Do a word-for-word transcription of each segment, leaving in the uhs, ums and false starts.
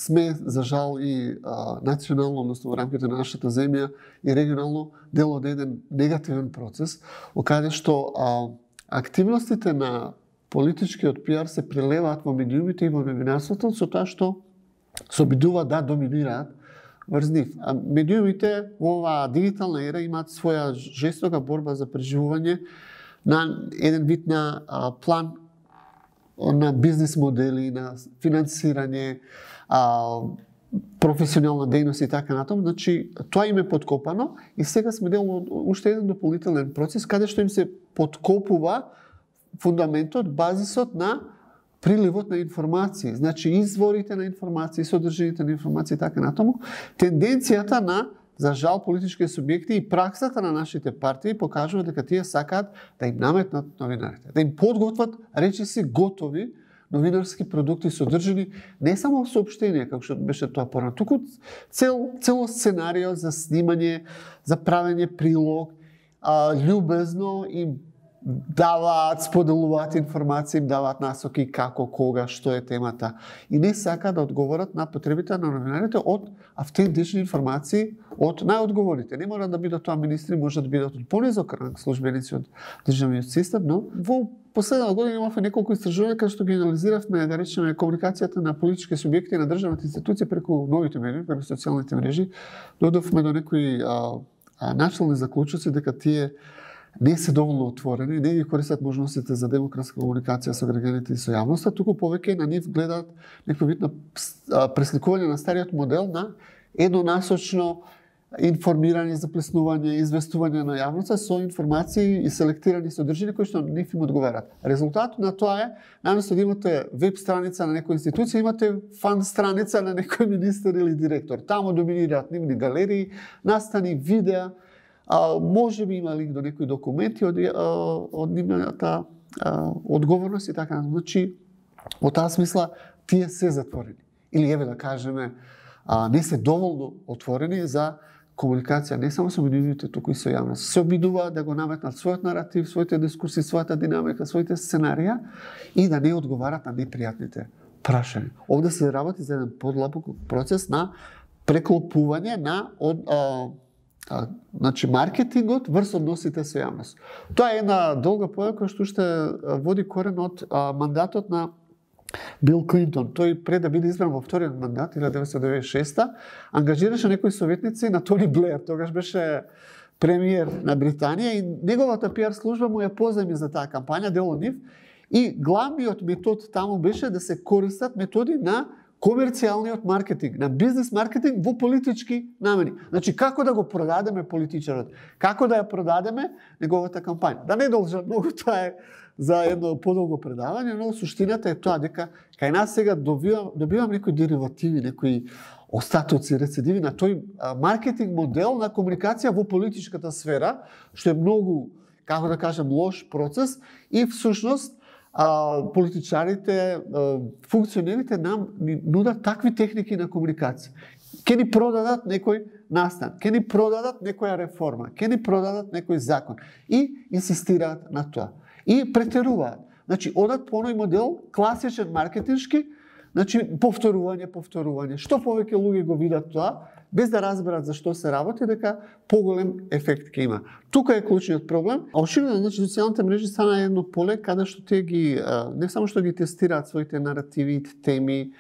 сме, за жал, и а, национално, односно во рамките на нашата земја и регионално дел од еден негативен процес, каде што а, активностите на политичкиот пиар се прелеваат во медиумите и во новинарството со тоа што се обидуваат да доминираат врз нив. А медиумите во оваа дигитална ера имаат своја жестока борба за преживување на еден вид на а, план на бизнес модели, на финансирање, а, професионална дејност и така натаму. Значи, тоа им е подкопано и сега сме дел од уште еден дополнителен процес каде што им се подкопува фундаментот, базисот на приливот на информации, значи изворите на информации, содржините на информации и така натаму. Тенденцијата на, за жал, политички субјекти и праксата на нашите партии покажува дека тие сакаат да им наметнат новинарите, да им подготват речиси готови новинарски продукти содржини не само соопштенија, како што беше тоа порано, туку цел цело сценарио за снимање, за правење прилог, а, љубезно им даваат, споделуваат информации, им даваат насоки како, кога, што е темата. И не сака да одговорат на потребите на новинарите од автентични информации од најодговорите. Не мора да бидат тоа министри, може да бидат од понизок ранг службеници од државниот систем, но во последната година имавме неколку истражувања каде што ги анализиравме, да речеме, комуникацијата на политички субјекти на државните институции преку новите медии, преку социјалните мрежи. Додовме до некои а, а, начални заклучоци дека тие не се доволно отворени, не ги користат можностите за демократска комуникација со граѓаните и со јавноста, туку повеќе на нив гледаат некој вид на пресликување на стариот модел на еднонасочно информирање, заплеснување, известување на јавноста со информации и селектирани содржини кои што нив им одговарат. Резултатот на тоа е, наместо да имате веб страница на некоја институција, имате фан страница на некој министер или директор. Таму доминираат нивни галерии, настани, видеа, А, може би има линк до некои документи од, од нивната одговорност и така. Значи, во таа смисла, тие се затворени. Или, еве да кажеме, а, не се доволно отворени за комуникација не само со медиумите, туку и со јавност. Се обидуваат да го наметнат својот наратив, своите дискурси, својата динамика, своите сценарија и да не одговарат на непријатните прашања. Овде се работи за еден подлабок процес на преклопување на од, а, А, значи, маркетингот врз односите со јавност. Тоа е една долга појава која што уште води корен од а, мандатот на Бил Клинтон. Тој пред да биде избран во вториот мандат, илјадесетстотини деветдесет и шеста, ангажираше некои советници на Тони Блеер, тогаш беше премиер на Британија и неговата пиар служба му ја позајми за таа кампања, дел од нив, и главниот метод таму беше да се користат методи на комерцијалниот маркетинг, на бизнес маркетинг во политички намени. Значи, како да го продадеме политичарот, како да ја продадеме неговата кампања. Да не должат многу, тоа е за едно подолго предавање, но суштината е тоа дека кај нас сега добивам, добивам некои деривативи, некои остатоци, рецидиви на тој маркетинг модел на комуникација во политичката сфера, што е многу, како да кажем, лош процес и всушност А, политичарите, а, функционерите нам ни нудат такви техники на комуникација. Ке ни продадат некој настан, ке ни продадат некоја реформа, ке ни продадат некој закон и инсистираат на тоа. И претеруваат. Значи, одат по оној модел, класичен маркетиншки, значи, повторување, повторување. Што повеќе луѓе го видат тоа, без да разберат за што се работи, дека поголем ефект ќе има. Тука е клучниот проблем. А оширено, значи, социјалните мрежи стана едно поле каде што тие ги не само што ги тестираат своите наративи, теми,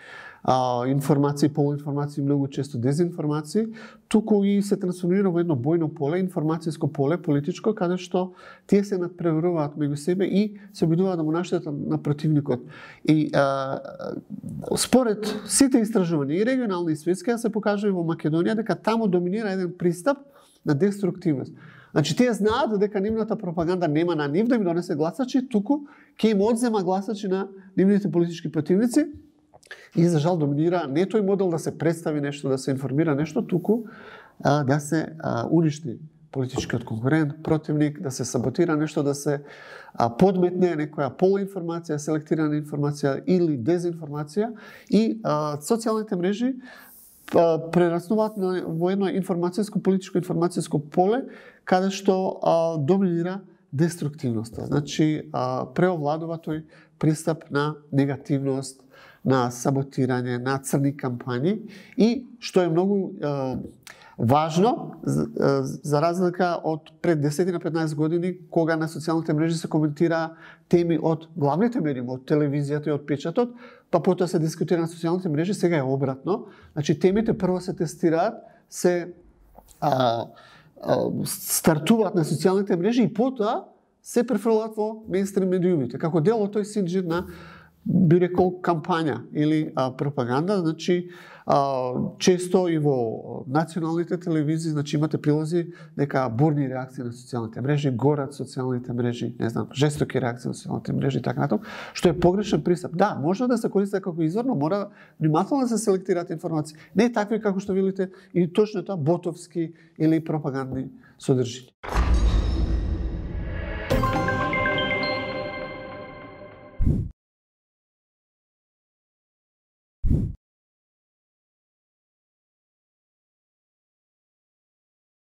а, информации, полуинформации, многу често дезинформации, туку и се трансформира во едно бојно поле, информацијско поле, политичко, каде што тие се надпреваруваат меѓу себе и се обидуваат да му наштетат на противникот. И а, според сите истражувања, и регионални и светски, се покажува во Македонија дека таму доминира еден пристап на деструктивност. Значи, тие знаат дека нивната пропаганда нема на нив да им донесе гласачи, туку ќе им одзема гласачи на нивните политички противници. И за жал доминира не тој модел да се представи нешто, да се информира нешто, туку а, да се а, уништи политичкиот конкурент, противник, да се саботира нешто, да се а, подметне некоја полуинформација, селектирана информација или дезинформација и а, социјалните мрежи а, прераснуваат во едно информацијско, политичко информацијско поле каде што а, доминира деструктивноста. Значи, а, преовладува тој пристап на негативност, на саботирање, на црни кампањи и што е многу е, важно, за разлика од пред десет на петнаесет години, кога на социјалните мрежи се коментира теми од главните медии, од телевизијата и од печатот, па потоа се дискутира на социјалните мрежи, сега е обратно. Значи, темите прво се тестираат, се а, а, стартуваат на социјалните мрежи и потоа се префрлаат во мејнстрим медиумите, како дел од тој синџир на, би рекол, кампања или а, пропаганда. Значи, а, често и во националните телевизии, значи имате прилози дека бурни реакции на социјалните мрежи, горат социјалните мрежи, не знам, жестоки реакции на социјалните мрежи и така натаму, што е погрешен пристап. Да, може да се користи како извор, но мора внимателно да се селектираат информации. Не такви како што видите и точно тоа ботовски или пропагандни содржини.